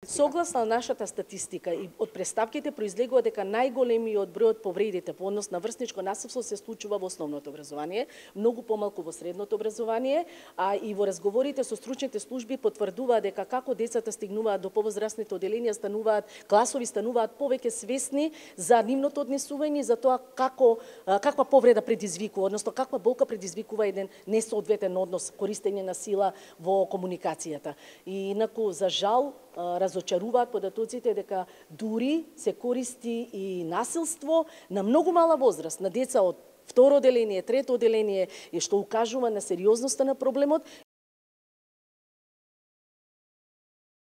Согласно нашата статистика и од преставките произлегува дека најголемиот број од повредите по однос на врсничко насилство се случува во основното образование, многу помалку во средното образование, а и во разговорите со стручните служби потврдува дека како децата стигнуваат до повозрастните оделенија, класови стануваат повеќе свесни за нивното однесување, за тоа каква повреда предизвикува, односно каква болка предизвикува еден несоодветен однос, користење на сила во комуникацијата. И инаку за жал разочаруваат податоците дека дури се користи и насилство на многу мала возраст, на деца од второ оделение, трето оделение, и што укажува на сериозноста на проблемот